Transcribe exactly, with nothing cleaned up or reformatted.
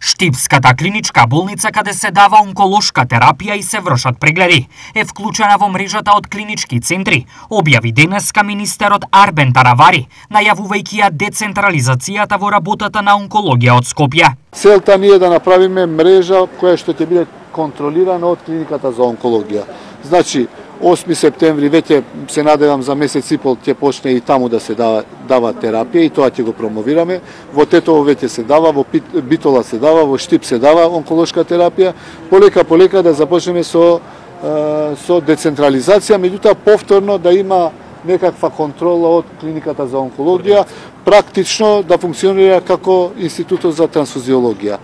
Штипската клиничка болница каде се дава онколошка терапија и се вршат прегледи е вклучена во мрежата од клинички центри, објави денеска министерот Арбен Таравари, најавувајќи ја децентрализацијата во работата на онкологија од Скопје. Целта ни е да направиме мрежа која што ќе биде контролирана од клиниката за онкологија. Значи, осми септември веќе се надевам за месец и пол ќе почне и таму да се дава, дава терапија и тоа ќе го промовираме. Во Тетово веќе се дава, во Битола се дава, во Штип се дава онколошка терапија. Полека полека да започнеме со со децентрализација, меѓутоа повторно да има некаква контрола од клиниката за онкологија, практично да функционира како институтот за трансфузиологија.